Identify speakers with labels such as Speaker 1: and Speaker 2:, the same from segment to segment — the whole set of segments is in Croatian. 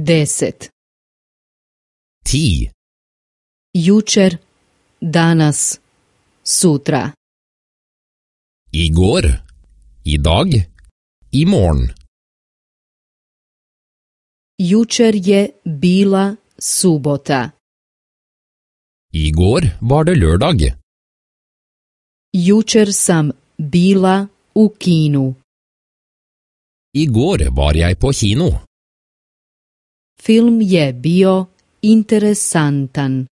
Speaker 1: 10.
Speaker 2: 10.
Speaker 1: Jučer, danas, sutra.
Speaker 2: Igår, idag, imorgon.
Speaker 1: Jučer je bila subota.
Speaker 2: Igår var det lørdag.
Speaker 1: Jučer sam bila u kinu.
Speaker 2: Igår var jeg på kino.
Speaker 1: Film je bio interessantan.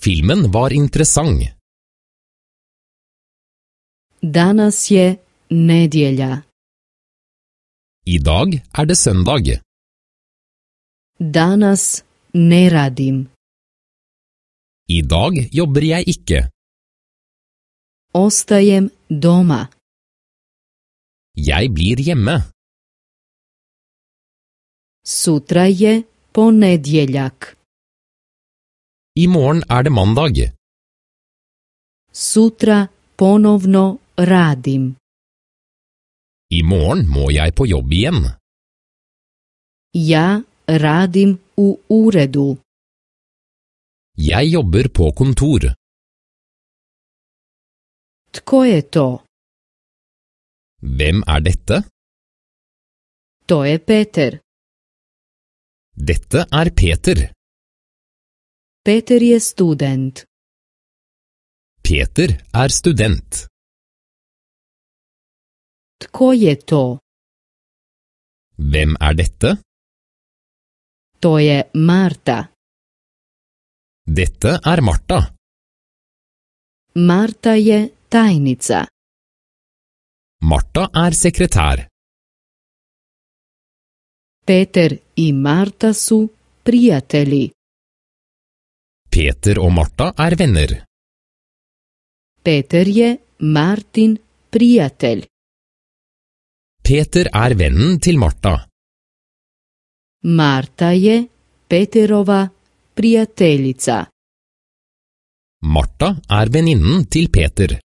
Speaker 2: Filmen var interessant.
Speaker 1: Danas je nedjelja.
Speaker 2: I dag er det søndag.
Speaker 1: Danas ne radim.
Speaker 2: I dag jobber jeg ikke.
Speaker 1: Ostajem doma.
Speaker 2: Jeg blir hjemme.
Speaker 1: Sutra je ponedjeljak.
Speaker 2: I morgen er det mandag.
Speaker 1: Sutra ponovno radim.
Speaker 2: I morgen må jeg på jobb igjen.
Speaker 1: Ja radim u uredu.
Speaker 2: Jeg jobber på kontor.
Speaker 1: Tko je to?
Speaker 2: Hvem er dette?
Speaker 1: To je Peter.
Speaker 2: Dette er Peter.
Speaker 1: Peter je student.
Speaker 2: Peter er student.
Speaker 1: Tko je to?
Speaker 2: Hvem er dette?
Speaker 1: To je Marta.
Speaker 2: Dette er Marta.
Speaker 1: Marta je tajnica.
Speaker 2: Marta er sekretær.
Speaker 1: Peter i Marta su prijatelji.
Speaker 2: Peter og Marta er venner.
Speaker 1: Peter je Martin prijatelj.
Speaker 2: Peter er vennen til Marta.
Speaker 1: Marta je Peterova prijateljica.
Speaker 2: Marta er venninnen til Peter.